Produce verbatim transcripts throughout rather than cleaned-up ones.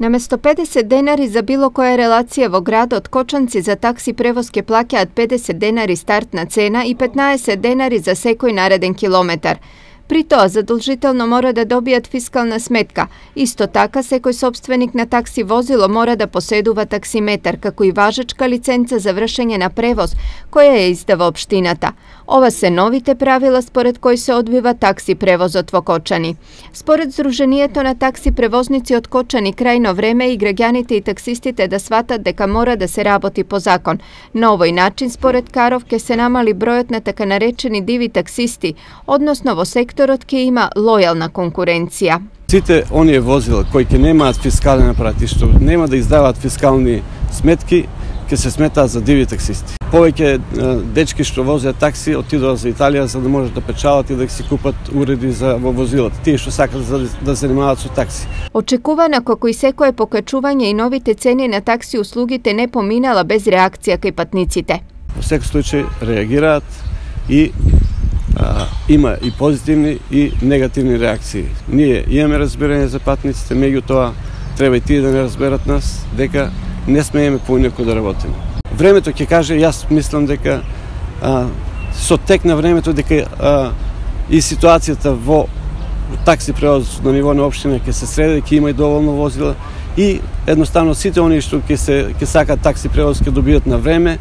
Наместо педесет денари за било која релација во градот, кочанци за такси превоз ке плаќаат педесет денари стартна цена и петнаесет денари за секој нареден километар. При тоа задолжително мора да добијат фискална сметка. Исто така, секој собственик на такси возило мора да поседува таксиметар, како и важечка лиценца за вршење на превоз, која ја издава општината. Ова се новите правила според кои се одвива такси превозот во Кочани. Според Здруженијето на такси превозници од Кочани, крајно време и граѓаните и таксистите да сватат дека мора да се работи по закон. На овој начин, според Каров, ке се намали бројот на така наречени диви таксисти, односно во секторот ќе има лојална конкуренција. Сите оние возила кои ќе немаат фискален апарат и што нема да издаваат фискални сметки, ќе се сметаат за диви таксисти. Повеќе дечки што возат такси отидоа за Италија за да можат да печалат и да си купат уреди за во возилата, тие што сакат да се занимаваат со такси. Очекувана како и секое покачување и новите цени на такси услугите не поминала без реакција кај патниците. Во секој случај реагираат и а, има и позитивни и негативни реакции. Ние имаме разбирање за патниците, меѓутоа треба и тие да не разберат нас дека не смееме поинаку да работиме. Времето ќе каже, јас мислам дека а, со тек на времето дека а, и ситуацијата во такси превоз на ниво на општина ќе се среди, ќе има и доволно возила и едноставно сите оние што ќе се ќе сакаат такси превоз ќе добијат на време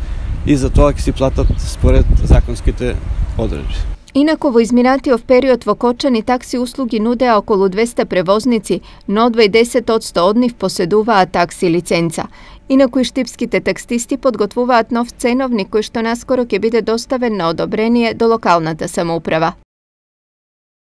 и за тоа ќе си платат според законските одредби. Инаку во изминатиот период во Кочани такси услуги нудеа околу двеста превозници, но дваесет одсто од нив поседуваат такси лиценца. Инаку и штипските таксисти подготвуваат нов ценовник кој што наскоро ќе биде доставен на одобрение до локалната самоуправа.